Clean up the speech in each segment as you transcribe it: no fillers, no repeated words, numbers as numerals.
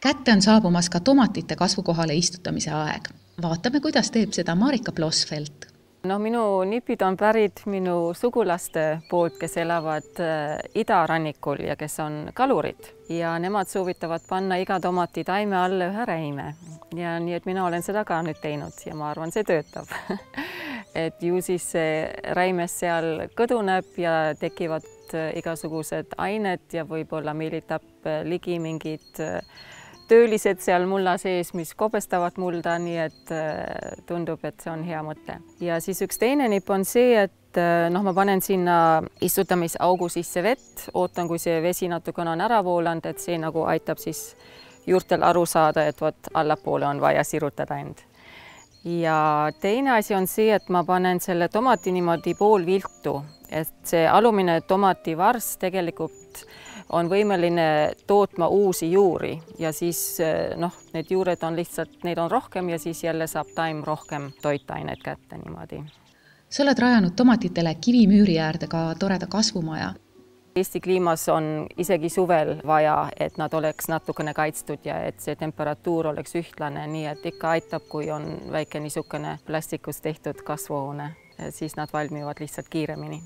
Kätte on saabumas ka tomatite kasvukohale istutamise aeg. Vaatame, kuidas teeb seda Marika Blossfeldt. No, minu nipid on pärit minu sugulaste poolt, kes elavad idarannikul ja kes on kalurid. Ja nemad soovitavad panna iga tomati taime alle ühe räime. Ja nii, et mina olen seda ka nüüd teinud ja ma arvan, see töötab. Et ju siis see räimes seal kõduneb ja tekivad igasugused ained ja võib-olla meelitab ligi mingid töölised seal mulla sees, mis kobestavad mulda, nii et tundub, et see on hea mõte. Ja siis üks teine nipp on see, et ma panen sinna istutamisaugu sisse vett, ootan, kui see vesi natukene on ära voolanud, et see nagu aitab siis juurtel aru saada, et vot allapoole on vaja sirutada end. Ja teine asi on see, et ma panen selle tomati niimoodi pool viltu, et see alumine tomativars tegelikult on võimeline tootma uusi juuri ja siis need juured on lihtsalt, neid on rohkem ja siis jälle saab taim rohkem toitaineid kätte niimoodi. Sa oled rajanud tomatitele kivimüüri äärde ka toreda kasvumaja. Eesti kliimas on isegi suvel vaja, et nad oleks natukene kaitstud ja et see temperatuur oleks ühtlane, nii et ikka aitab, kui on väike niisugune plastikust tehtud kasvuhoone, siis nad valmivad lihtsalt kiiremini.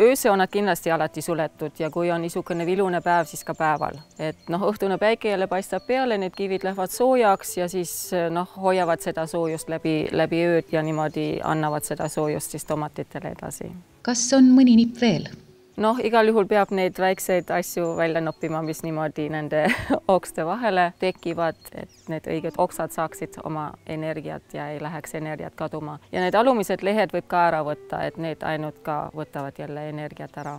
Ööse on nad kindlasti alati suletud ja kui on niisugune vilune päev, siis ka päeval. Et õhtune päike jälle paistab peale, need kivid lähevad soojaks ja siis hoiavad seda soojust läbi ööd ja niimoodi annavad seda soojust siis tomatitele edasi. Kas on mõni nipp veel? Igal juhul peab neid väikseid asju välja noppima, mis niimoodi nende okste vahele tekivad, et need õiged oksad saaksid oma energiat ja ei läheks energiat kaduma. Ja need alumised lehed võib ka ära võtta, et need ainult ka võtavad jälle energiat ära.